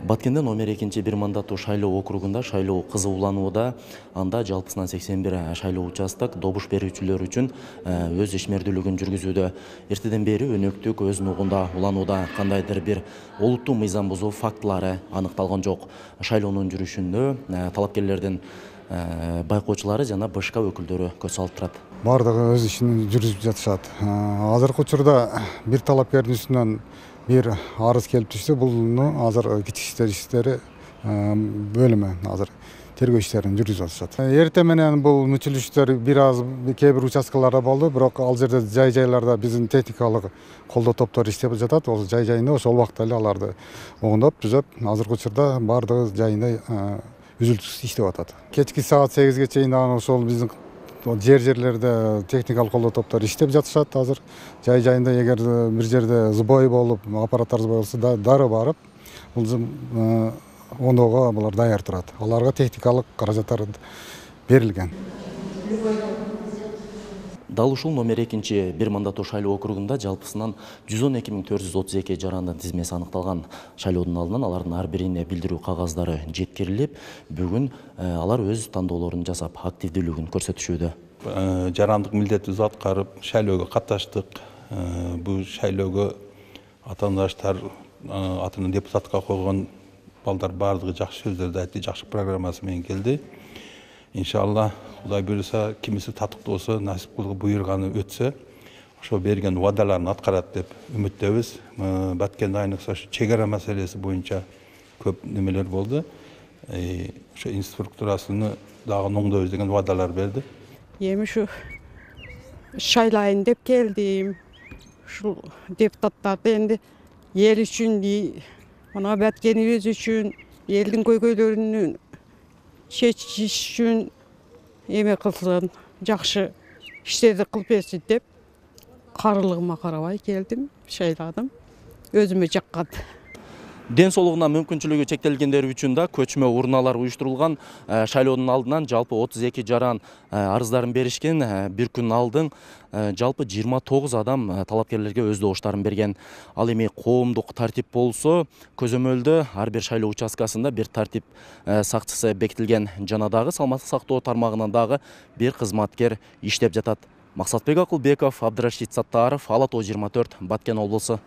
Баткенде номер 2 бир мандаттуу шайлоо округунда шайлоо кызууланууда. Анда жалпысынан 81 шайлоо участок добуш берүүчүлөр үчүн өз ишмердүүлүгүн жүргүзүүдө. Эртеден бери өнөктүк өз нугунда уланууда. Кандайдыр бир олуттуу мыйзам бузуу фактылары аныкталган жок. Шайлоонун жүрүшүндө талапкерлердин байкоочулары жана БШК өкүлдөрү көз салып турат. Бардыгы өз ишин жүргүзүп жатышат. Азыркы учурда бир талапкердин үстүнөн бир арыз келип түшсө, бул азыр кичик иштери бөлүмү азыр тергөө иштерин жүргүзүп атышат. Эртең менен бул мүчүлүштөр бир аз кээ бир участкаларда болду, бирок ал жерде жай-жайларда биздин техникалык колдоо топтор иштеп жатат. Ол жай-жайында ошол убакта эле аларды оңдоп, түзөп, азыркы учурда бардыгы жайында үзүлтүсүз иштеп атат. Кечки саат 8ге чейин ошол биздин жерлерде техникалык колдоо топтор иштеп жатышат. Азыр жай-жайында эгер бир жерде сбой болуп, аппараттар сбой болсо дары барып, бул оңдоого булар даяр турат. Аларга техникалык каражаттар берилген. Дал ушул номер 2 бир мандаттуу шайлоо округунда жалпысынан 112.432 жарандын тизмеси аныкталган. Шайлоодун алдынан алардын ар бирине билдирүү кагаздары жеткирилип, бүгүн алар өз тандоолорун жасап, активдүүлүгүн көрсөтүшүүдө. Жарандык милдетибизди аткарып, шайлоого катташтык. Бул шайлоого атаандаштар атынан депутатка койгон балдар бардыгы жакшы сөздөрдү айтты, жакшы программасы менен келди. Иншалла, Кудай буйруса, кимиси татыктоосо, насип кылып буйруганы өтсө, ошо берген убадаларын аткарат деп үмүттөбүз. Баткенде айныкса чек ара маселеси боюнча көп немелер болду. Ошо инфраструктурасыны дагы оңдойбуз деген убадалар берди. Эми ушу шайлайын деп келдим. Ушул депутаттарды энди эл үчүн, мына Баткенибиз үчүн, элдин көйгөйлөрүн чечиш үчүн эме кылсын, жакшы иштерди кылып берсин деп карылыгыма карабай келдим, шайладым. Өзүмө жаккан. Ден соолугуна мүмкүнчүлүгү чектелгендер үчүн да көчмө урналар уюштурулган. Шайлоонун алдынан жалпы 32 жаран арыздарын беришкен. Бир күн алдын жалпы 29 адам талапкерлерге өз добуштарын берген. Ал эми коомдук тартип болсо, көзөмөлдө ар бир шайлоо участкасында бир тартип сакчысы бекитилген. Жана дагы саламаттык сактоо тармагынан дагы бир кызматкер иштеп жатат. Максатбек Акылбеков, Абдырашид Саттаров, Ала Тоо 24, Баткен облусу.